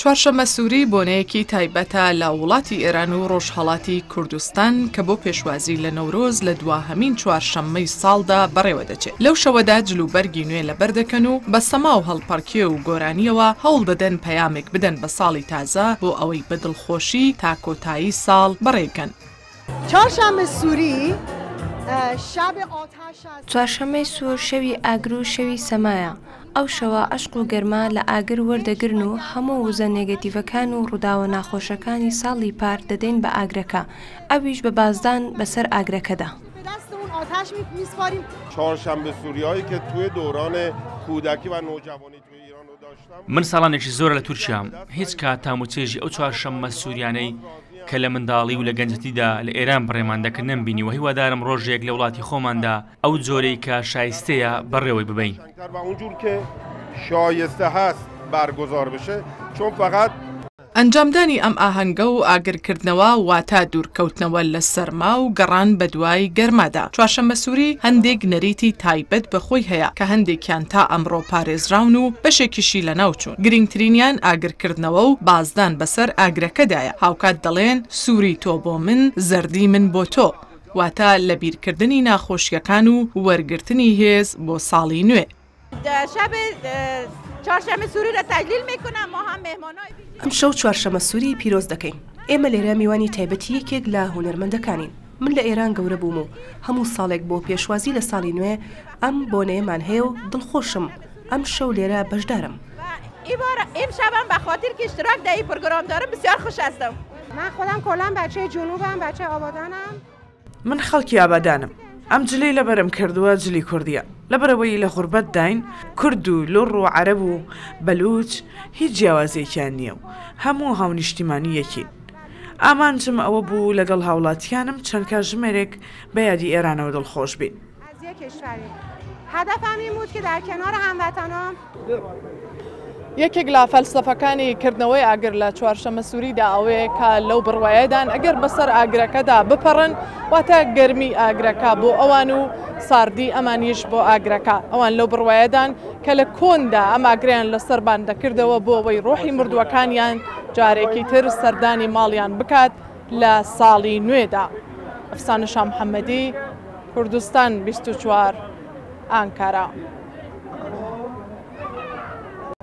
چوارشەممەسووری بۆنەیەکی تایبەتە لە وڵاتی ئێران و ڕۆژهەڵاتی کوردستان کە بۆ پێشوازی لە نەورۆز لە دواهەمین چوارشەممەی ساڵدا بەڕێوە دەچێت. لەو شەوەدا جلوبەرگی نوێ لەبەر دەکەن و بە سەما و هەڵپەڕکێ و گۆرانییەوە هەوڵ دەدەن پەیامێک بدەن بە ساڵی تازە بۆ ئەوەی بە دڵخۆشی تا کۆتایی ساڵ بەڕێ بکەن. چوارشەممەی سوور شەوی ئاگر و شەوی سەمایە، ئەو شەوە عەشق و گەرما لە ئاگر وەردەگرن و هەموو وزە نێگەتیڤەکان و ڕووداوە ناخۆشەکانی ساڵی پار دەدەین بە ئاگرەکە، ئەویش بە بازدان بەسەر ئاگرەکەدا. من ساڵانێکی زۆرە لە تورکیام، هیچ کات تام و چێژی ئەو چوارشەممە سووریانەی کە لە منداڵی و لە گەنجەتیدا لە ئێران بەڕێمان دەکرد نەمبینیوە، هیوادارم ڕۆژێک لە وڵاتی خۆماندا ئەو جۆرەی کە شایستەیە بەڕێوەی ببەین. ئەنجامدانی ئەم ئاهەنگە و ئاگرکردنەوە واتە دوورکەوتنەوە لە سەرما و گەڕان بەدوای گەرمادا. چوارشەممەسووری هەندێک نەریتی تایبەت بە خۆی هەیە کە هەندێکیان تا ئەمڕۆ پارێزراون و بەشێکیشی لەناوچوون. گرینگترینیان ئاگرکردنەوە و بازدان بەسەر ئاگرەکەدایە. هاوکات دەڵێن سووری تۆ بۆ من، زەردی من بۆ تۆ. واتە لەبیرکردنی ناخۆشییەکان و وەرگرتنی هێز بۆ ساڵی نوێ. ئەمشەو چوارشەمە سووری پیرۆز دەکەین. ئێمە لێرە میوانی تایبەتی یەکێک لە هونەرمەندەکانین. من لە ئێران گەورە بووم و هەموو ساڵێک بۆ پێشوازی لە ساڵی نوێ ئەم بۆنەیەمان هەیە و دڵخۆشم ئەمشەو لێرە بەشدارم. من خەڵکی ئابادانم ئەم جلەی لەبەرم کردووە جلی کوردیە لەبەرئەوەی لە غوربەتداین کورد و لوڕ و عەرەب و بەلوچ هیچ جیاوازیەکیان نیە و هەموو هاونیشتیمانی یەکین ئامانجم ئەوە بوو لەگەڵ هاوڵاتیانم چەند کاژمێرێک بە یادی ئێرانەوە دڵخۆش بین. یەکێک لە فەلسەفەکانی کردنەوەی ئاگر لە چوارشەمەسووریدا ئەوەیە کە لەو بڕوایەدان ئەگەر بەسەر ئاگرەکەدا بپەڕن واتە گەرمی ئاگرەکە بۆ ئەوان و ساردی ئەمانیش بۆ ئاگرەکە ئەوان لەو بڕوایەدان کە لە کۆندا ئەم ئاگریان لەسەربان دەکردەوە بۆ ئەوەی ڕۆحی مردووەکانیان جارێکی تر سەردانی ماڵیان بکات لە ساڵی نوێدا. ئەفسانە شامحەمەدی، کوردستان 24، ئانکارا.